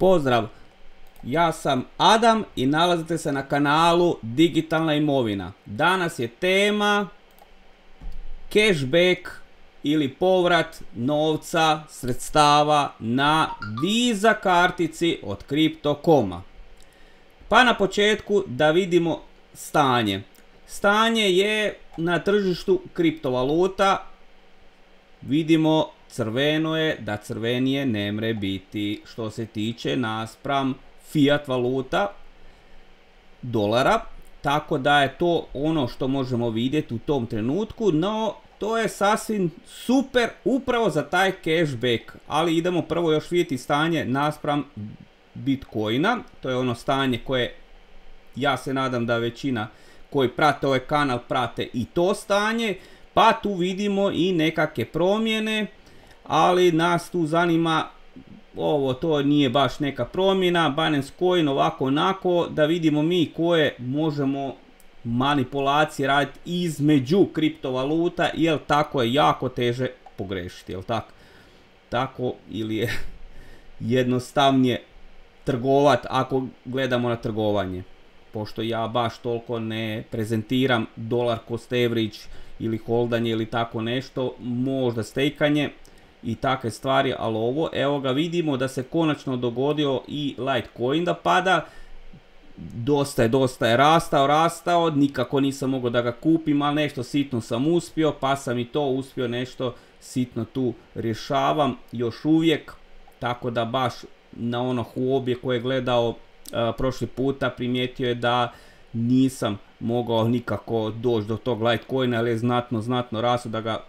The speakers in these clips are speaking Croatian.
Pozdrav, ja sam Adam i nalazite se na kanalu Digitalna imovina. Danas je tema cashback ili povrat novca, sredstava na Visa kartici od Crypto.com-a. Pa na početku da vidimo stanje. Stanje je na tržištu kriptovaluta. Vidimo crveno je, da crvenije ne mre biti što se tiče naspram fiat valuta dolara. Tako da je to ono što možemo vidjeti u tom trenutku, no to je sasvim super upravo za taj cashback. Ali idemo prvo još vidjeti stanje naspram Bitcoina. To je ono stanje koje ja se nadam da većina koji prate ovaj kanal prate i to stanje. Pa tu vidimo i nekakve promjene, ali nas tu zanima ovo, to nije baš neka promjena, Binance Coin ovako onako, da vidimo mi koje možemo manipulacije raditi između kriptovaluta, jer tako je jako teže pogrešiti, jel tako? Tako ili je jednostavnije trgovat ako gledamo na trgovanje, pošto ja baš toliko ne prezentiram dolar cost average ili holdanje ili tako nešto, možda stejkanje i takve stvari, ali ovo, evo ga, vidimo da se konačno dogodio i Litecoin da pada, dosta je rastao, nikako nisam mogao da ga kupim, ali nešto sitno sam uspio, pa sam i to uspio, nešto sitno tu rješavam još uvijek, tako da baš na ono Huobi koje je gledao prošli puta primijetio je da nisam mogao nikako doći do tog Litecoina, ali je znatno rastu da ga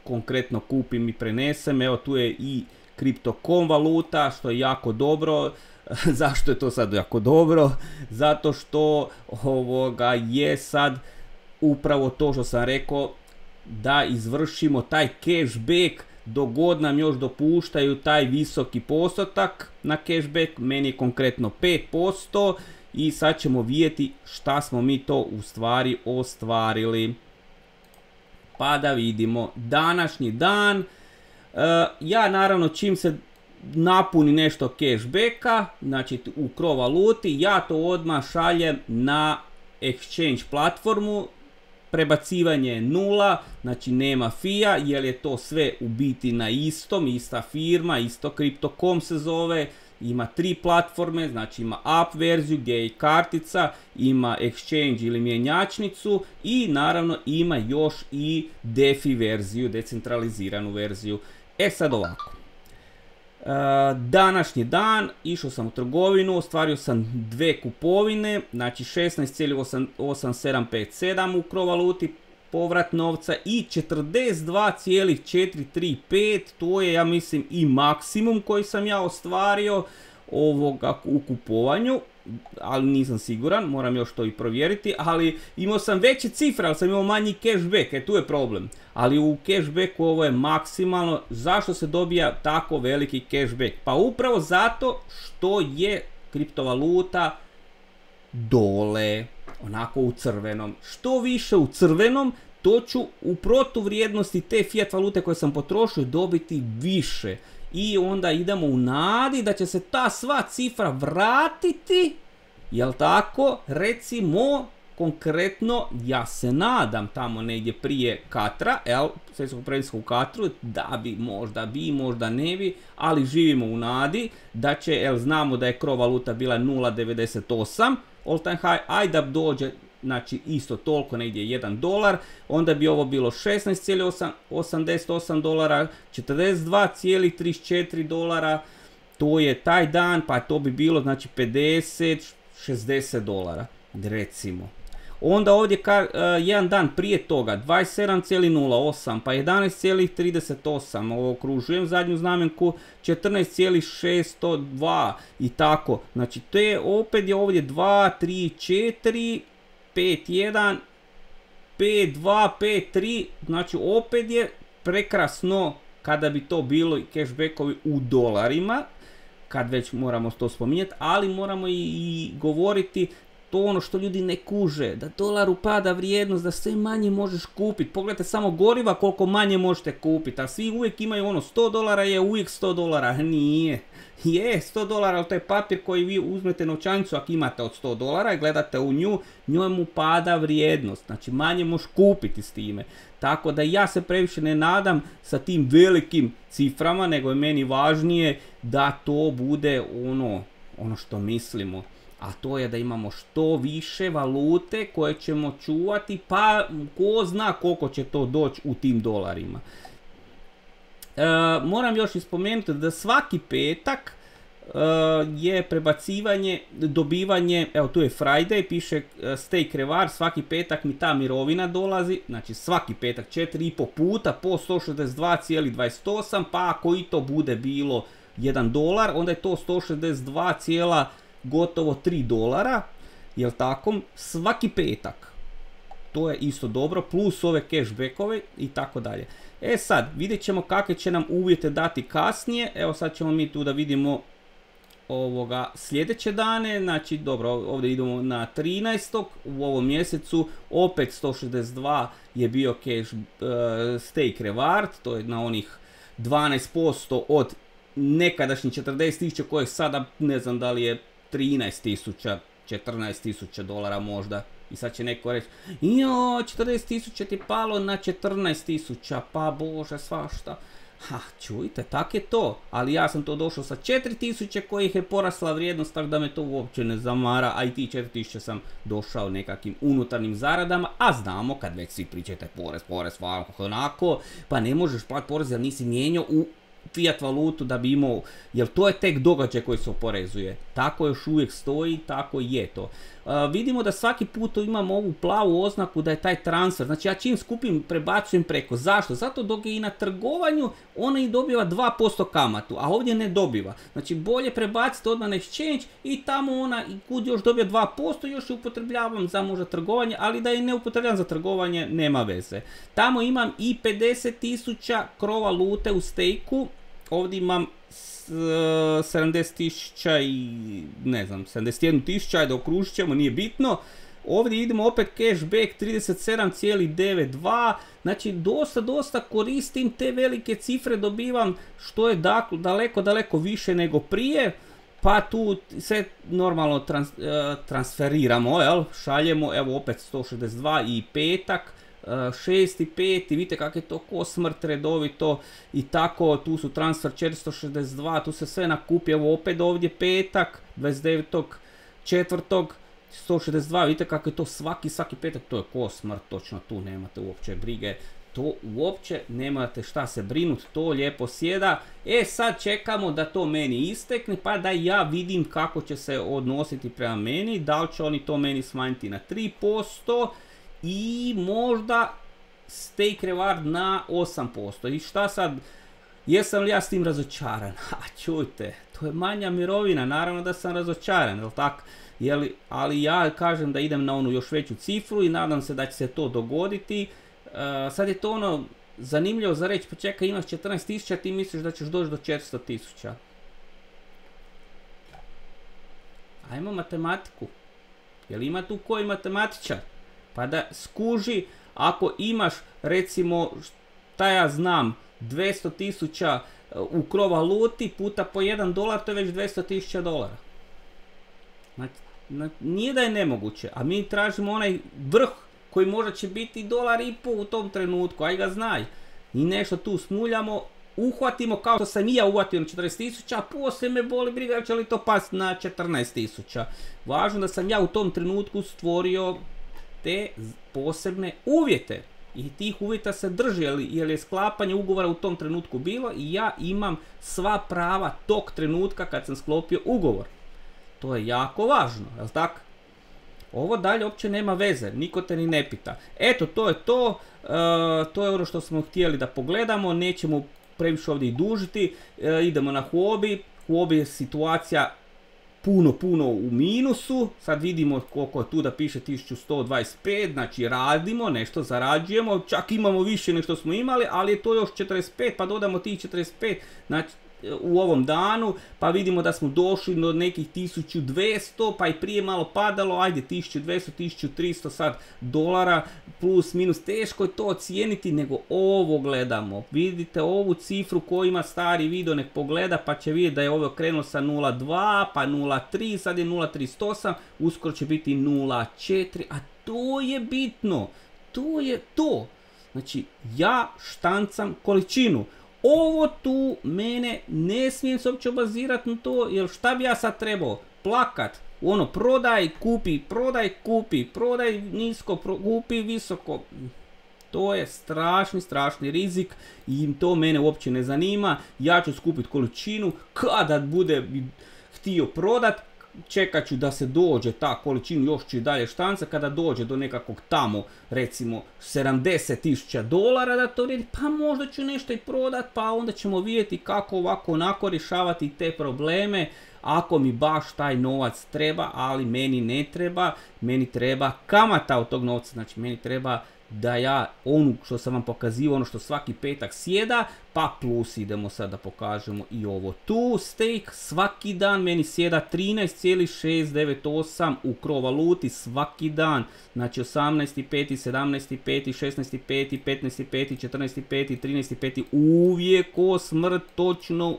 konkretno kupim i prenesem. Evo tu je i Crypto.com valuta, što je jako dobro. Zašto je to sad jako dobro? Zato što je sad upravo to što sam rekao, da izvršimo taj cashback dok god nam još dopuštaju taj visoki postotak na cashback. Meni je konkretno 5%. I sad ćemo vidjeti šta smo mi to u stvari ostvarili. Pa da vidimo današnji dan. Ja naravno čim se napuni nešto cashbacka, znači u Cro valuti, ja to odmah šaljem na exchange platformu. Prebacivanje je 0, znači nema fija, jer je to sve u biti na istom, ista firma, isto Crypto.com se zove. Ima 3 platforme, znači ima app verziju gdje je kartica, ima exchange ili mjenjačnicu i naravno ima još i DeFi verziju, decentraliziranu verziju. E sad ovako, današnji dan, išao sam u trgovinu, ostvario sam dve kupovine, znači 16,8757 u Cro valuti, povrat novca i 42,435, to je ja mislim i maksimum koji sam ja ostvario u kupovanju, ali nisam siguran, moram još to i provjeriti, ali imao sam veće cifre, ali sam imao manji cashback, tu je problem. Ali u cashbacku ovo je maksimalno. Zašto se dobija tako veliki cashback? Pa upravo zato što je kriptovaluta dole, onako u crvenom. Što više u crvenom, to ću u protuvrijednosti te fiat valute koje sam potrošio dobiti više. I onda idemo u nadi da će se ta sva cifra vratiti, jel tako? Recimo, konkretno, ja se nadam tamo negdje prije Katra, svjetskog prvenstva u Katru, da bi, možda ne bi, ali živimo u nadi da će, znamo da je Cro valuta bila 0,98 all time high, ajde da dođe, znači isto toliko, negdje $1, onda bi ovo bilo 16,88 dolara, 42,34 dolara, to je taj dan, pa to bi bilo znači 50-60 dolara, recimo. Onda ovdje jedan dan prije toga 27,08, pa 11,38, ovo okružujem zadnju znamenku, 14,602 i tako. Znači te opet je ovdje 2, 3, 4, 5, 1, 5, 2, 5, 3, znači opet je prekrasno kada bi to bilo i cashbackovi u dolarima, kad već moramo to spominjati, ali moramo i govoriti to ono što ljudi ne kuže, da dolaru pada vrijednost, da sve manje možeš kupiti. Pogledajte samo goriva koliko manje možete kupiti, a svi uvijek imaju ono $100 je uvijek $100, nije. Je $100, ali to je papir koji vi uzmete novčanicu ako imate od $100 i gledate u nju, njoj mu pada vrijednost, znači manje možeš kupiti s time. Tako da ja se previše ne nadam sa tim velikim ciframa, nego je meni važnije da to bude ono što mislimo. A to je da imamo što više valute koje ćemo čuvati, pa ko zna koliko će to doći u tim dolarima. Moram još ispomenuti da svaki petak je prebacivanje, dobivanje, evo tu je Friday, piše Stay Krevar, svaki petak mi ta mirovina dolazi, znači svaki petak 4,5 puta po 162,28, pa ako i to bude bilo $1, onda je to 162, gotovo $3, jel tako, svaki petak. To je isto dobro, plus ove cashbackove i tako dalje. E sad, vidjet ćemo kakve će nam uvjete dati kasnije. Evo sad ćemo mi tu da vidimo sljedeće dane. Znači dobro, ovdje idemo na 13. u ovom mjesecu. Opet 162 je bio stake reward. To je na onih 12% od nekadašnjih 40.000 kojih sada ne znam da li je 13.000, 14.000 dolara možda. I sad će neko reći, jo, 40.000 ti palo na 14.000, pa bože svašta. Ha, čujte, tak je to, ali ja sam to došao sa 4.000 kojih je porasla vrijednost, tako da me to uopće ne zamara, a i ti 4.000 sam došao nekakvim unutarnjim zaradama, a znamo kad već svi pričate porez, onako, pa ne možeš platiti porez jer nisi mijenjao u fiat valutu da bi imao, jer to je tek događaj koji se oporezuje. Tako još uvijek stoji, tako je to. Vidimo da svaki put imamo ovu plavu oznaku da je taj transfer, znači ja čim skupim prebacujem preko. Zašto? Zato dok je i na trgovanju ona i dobiva 2% kamatu, a ovdje ne dobiva. Znači bolje prebaciti odmah na exchange i tamo ona i kud još dobija 2%, još je upotrebljavam za možda trgovanje, ali da i ne upotrebljavam za trgovanje nema veze. Tamo imam i 50.000 krova lute u stejku, ovdje imam 70.000 i ne znam 71.000, ajde okružit ćemo, nije bitno. Ovdje idemo opet cashback 37,92, znači dosta koristim te velike cifre, dobivam što je daleko više nego prije, pa tu sve normalno transferiramo, jel? Šaljemo, evo opet 162 i petak. 6.5. vidite kako je to ko smrt redovito i tako, tu su transfer 462, tu se sve nakupi, evo opet ovdje petak 29.4. 162, vidite kako je to svaki petak, to je ko smrt, točno tu nemate uopće brige, to uopće nemate šta se brinuti, to lijepo sjeda. E sad čekamo da to meni istekne, pa da ja vidim kako će se odnositi prema meni, da li će oni to meni smanjiti na 3%, i možda stake reward na 8%. I šta sad, jesam li ja s tim razočaran? A čujte, to je manja mirovina, naravno da sam razočaran, jel tako? Ali ja kažem da idem na onu još veću cifru i nadam se da će se to dogoditi. Sad je to ono zanimljivo za reći, pa čekaj, imaš 14.000, ti misliš da ćeš doći do 400.000. Ajmo matematiku. Jel ima tu koji matematičar? Pa da skuži, ako imaš recimo, šta ja znam, 200.000 u krov-valuti puta po $1, to je već 200.000 dolara. Znači, nije da je nemoguće, a mi tražimo onaj vrh koji možda će biti $1,5 u tom trenutku, aj ga znaj. I nešto tu smuljamo, uhvatimo kao što sam i ja uhvatio na 40.000, a poslije me boli briga će li to pasti na 14.000. Važno da sam ja u tom trenutku stvorio te posebne uvjete i tih uvjeta se drži, jer je sklapanje ugovora u tom trenutku bilo i ja imam sva prava tog trenutka kad sam sklopio ugovor. To je jako važno, jel tako? Ovo dalje uopće nema veze, niko te ni ne pita. Eto, to je to, to je ono što smo htjeli da pogledamo, nećemo previše ovdje i dužiti, idemo na Huobi. Huobi je situacija puno u minusu, sad vidimo koliko je tu da piše 1125, znači radimo, nešto zarađujemo, čak imamo više nego što smo imali, ali je to još 45, pa dodamo tih 45, znači u ovom danu, pa vidimo da smo došli do nekih 1200, pa i prije malo padalo, ajde 1200, 1300 sad dolara, plus minus, teško je to ocijeniti, nego ovo gledamo. Vidite ovu cifru ko ima stari video, nek pogleda, pa će vidjeti da je ovo krenulo sa 0.2, pa 0.3, sad je 0.38, uskoro će biti 0.4, a to je bitno, to je to. Znači, ja štancam količinu. Ovo tu mene ne smijem se uopće obazirati na to, jer šta bi ja sad trebao? Plakat, ono, prodaj, kupi, prodaj nisko, kupi visoko. To je strašni rizik i to mene uopće ne zanima. Ja ću skupiti količinu, kada bude htio prodat, čekat ću da se dođe ta količina, još ću i dalje štanca, kada dođe do nekakvog tamo, recimo 70.000 dolara da to vredi, pa možda ću nešto i prodat, pa onda ćemo vidjeti kako ovako onako rješavati te probleme, ako mi baš taj novac treba, ali meni ne treba, meni treba kamata od tog novca, znači meni treba da ja onu što sam vam pokazivao, ono što svaki petak sjeda, pa plus idemo sad da pokažemo i ovo tu, stake, svaki dan meni sjeda 13,698 u CRO valuti svaki dan, znači 18.5, 17.5, 16.5, 15.5, 14.5, 13.5, uvijek ko smrt, točno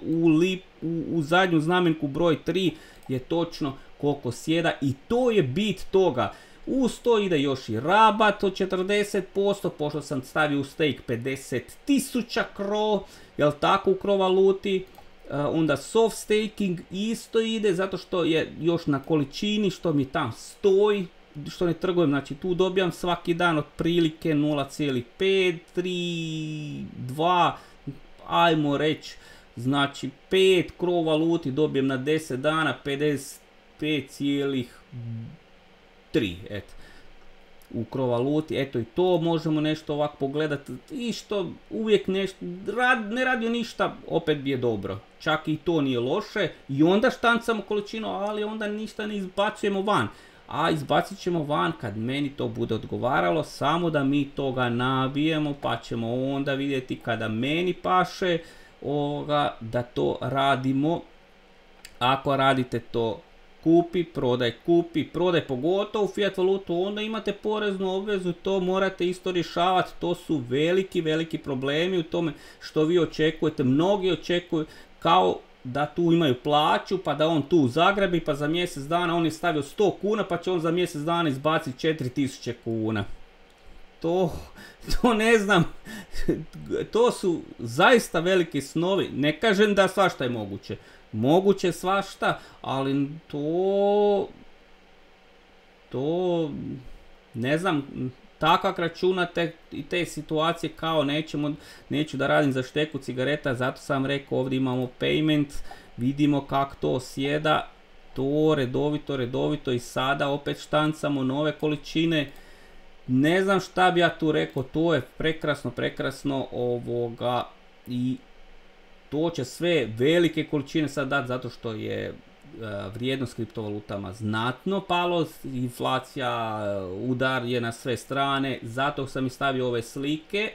u zadnju znamenku broj 3 je točno koliko sjeda i to je bit toga. Uz to ide još i rabat od 40%, pošto sam stavio u stake 50.000 CRO, jel tako, u CRO valuti. Onda soft staking isto ide, zato što je još na količini što mi tam stoji, što ne trgujem, znači tu dobijam svaki dan otprilike 0,5, 3, 2, ajmo reći, znači 5 CRO valuti dobijem na 10 dana, 55,3, eto, u CRO valuti, eto i to možemo nešto ovako pogledati i što uvijek nešto, ne radio ništa, opet bi je dobro, čak i to nije loše i onda štancamo količinu, ali onda ništa ne izbacujemo van, a izbacit ćemo van kad meni to bude odgovaralo, samo da mi toga nabijemo, pa ćemo onda vidjeti kada meni paše da to radimo. Ako radite to kupi, prodaj, pogotovo fiat valutu, onda imate poreznu obvezu, to morate isto rješavati, to su veliki problemi u tome što vi očekujete. Mnogi očekuju kao da tu imaju plaću, pa da on tu zagrabi, pa za mjesec dana on je stavio 100 kuna, pa će on za mjesec dana izbaciti 4000 kuna. To ne znam, to su zaista veliki snovi, ne kažem da svašta je moguće. Moguće svašta, ali to ne znam, tako računate i te situacije kao neću da radim za šteku cigareta, zato sam rekao ovdje imamo payment, vidimo kako to sjeda, to redovito i sada opet štancamo nove količine. Ne znam šta bi ja tu rekao, to je prekrasno i to će sve velike količine sad dati zato što je vrijednost kriptovalutama znatno palo, inflacija, udar je na sve strane, zato sam i stavio ove slike,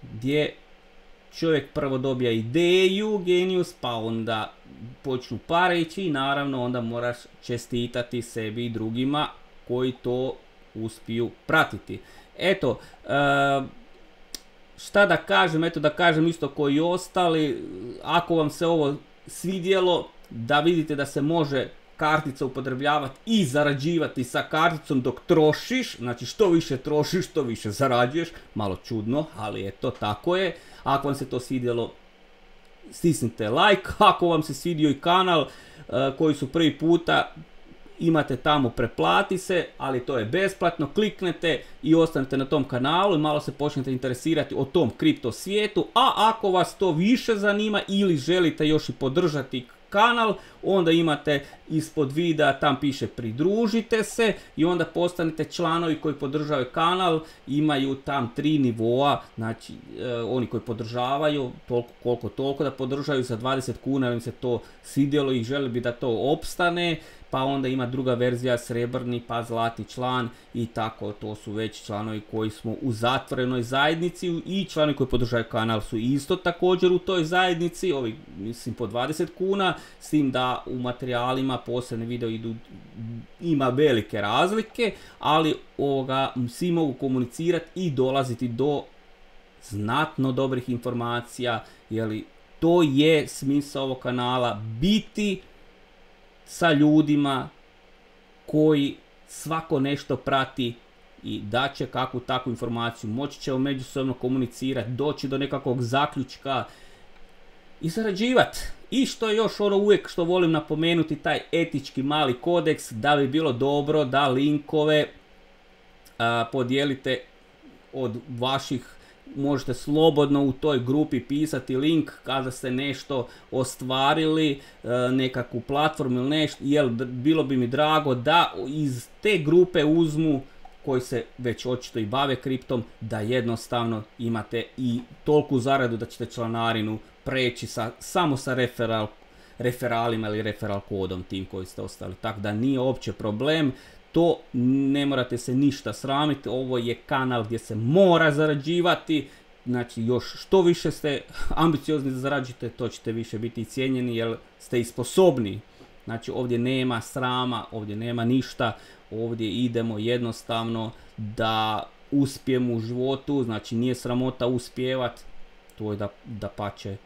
gdje čovjek prvo dobija ideju, genius, pa onda počnu pare ići i naravno onda moraš čestitati sebi i drugima koji to uspiju pratiti. Eto, šta da kažem, eto da kažem isto koji i ostali, ako vam se ovo svidjelo, da vidite da se može kartica upotrebljavati i zarađivati sa karticom dok trošiš, znači što više trošiš, što više zarađuješ, malo čudno, ali eto, tako je. Ako vam se to svidjelo, stisnite like, ako vam se svidio i kanal koji su prvi puta, imate tamo preplati se, ali to je besplatno, kliknete i ostanete na tom kanalu i malo se počnete interesirati o tom kripto svijetu, a ako vas to više zanima ili želite još i podržati kanal, onda imate ispod videa, tam piše pridružite se i onda postanete članovi koji podržavaju kanal, imaju tam 3 nivoa, znači oni koji podržavaju koliko da podržaju za 20 kuna, jer im se to svidjelo i želi bi da to opstane, pa onda ima druga verzija srebrni, pa zlatni član i tako, to su već članovi koji smo u zatvorenoj zajednici i članovi koji podržavaju kanal su isto također u toj zajednici, ovi mislim po 20 kuna, s tim da u materijalima posebne video ima velike razlike, ali svi mogu komunicirati i dolaziti do znatno dobrih informacija, jer to je smisao ovog kanala, biti sa ljudima koji svako nešto prati i daće kakvu takvu informaciju, moći će međusobno komunicirati, doći do nekakvog zaključka i zarađivati. I što je još uvijek što volim napomenuti, taj etički mali kodeks, da bi bilo dobro da linkove podijelite od vaših, možete slobodno u toj grupi pisati link kada ste nešto ostvarili, nekakvu platformu ili nešto, jer bilo bi mi drago da iz te grupe uzmu, koji se već očito i bave kriptom, da jednostavno imate i toliku zaradu da ćete članarinu preći samo sa referalima ili referal kodom tim koji ste ostali. Tako da nije uopće problem. To ne morate se ništa sramiti, ovo je kanal gdje se mora zarađivati, znači još što više ste ambiciozni da zarađujete, to ćete više biti cijenjeni jer ste i sposobni. Znači ovdje nema srama, ovdje nema ništa, ovdje idemo jednostavno da uspijemo u životu, znači nije sramota uspjevat, to je da pače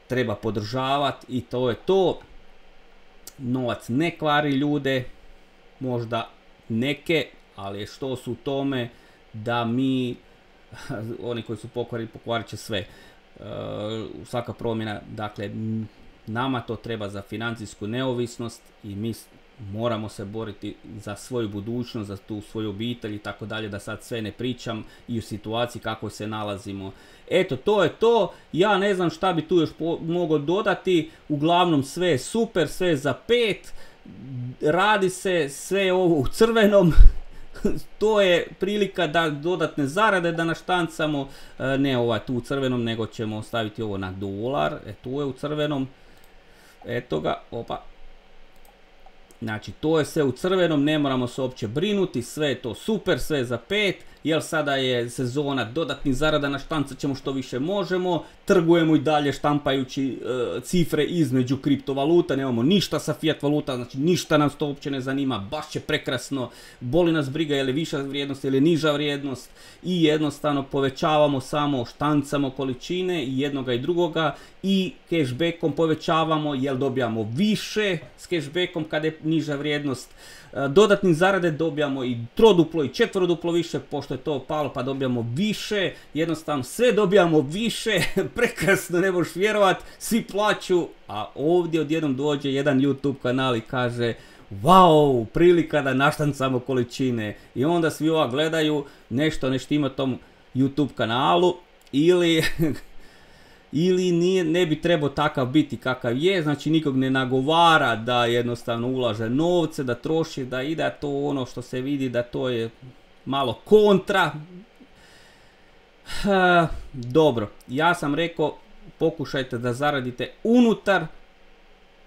treba podržavati i to je to. Novac ne kvari ljude, možda neke, ali što su u tome da mi, oni koji su pokvarili, pokvarit će sve. Svaka promjena, dakle, nama to treba za financijsku neovisnost i mi moramo se boriti za svoju budućnost, za tu svoju obitelj i tako dalje, da sad sve ne pričam i u situaciji kako se nalazimo. Eto, to je to. Ja ne znam šta bi tu još mogao dodati. Uglavnom sve je super, sve je za 5. Radi se sve ovo u crvenom. To je prilika da dodatne zarade da naštancamo. Ne tu u crvenom, nego ćemo staviti ovo na dolar. Tu je u crvenom. Eto ga, opa. Znači to je sve u crvenom, ne moramo se uopće brinuti, sve je to super, sve je za 5, jer sada je sezona dodatnih zarada, naštancat ćemo što više možemo, trgujemo i dalje štampajući cifre između kriptovaluta, nemamo ništa sa fiat valuta, znači ništa nas to uopće ne zanima, baš će prekrasno, boli nas briga je li viša vrijednost ili niža vrijednost i jednostavno povećavamo samo, štancamo količine i jednoga i drugoga i cashbackom povećavamo jer dobijamo više s cashbackom kada je niža vrijednost. Dodatnim zarade dobijamo i troduplo i četveroduplo više, pošto je to palo pa dobijamo više, jednostavno sve dobijamo više, prekrasno, ne možeš vjerovat, svi plaću, a ovdje odjednom dođe jedan YouTube kanal i kaže wow, prilika da naštancamo količine i onda svi gledaju, nešto ima tom YouTube kanalu ili ne bi trebao takav biti kakav je, znači nikog ne nagovara da jednostavno ulaže novce, da troši, da ide, to ono što se vidi da to je malo kontra. Dobro, ja sam rekao pokušajte da zaradite unutar,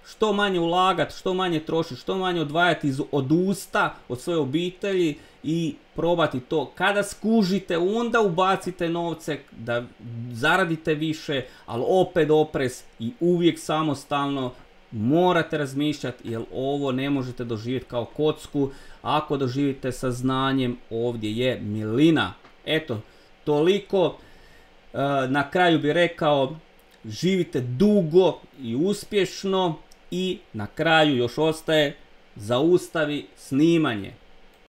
što manje ulagati, što manje trošiti, što manje odvajati od usta, od svoje obitelji i probati to. Kada skužite, onda ubacite novce da zaradite više, ali opet oprez i uvijek samostalno morate razmišljati jer ovo ne možete doživjeti kao kocku. Ako doživite sa znanjem, ovdje je milina. Eto, toliko. Na kraju bih rekao, živite dugo i uspješno i na kraju još ostaje zaustavi snimanje.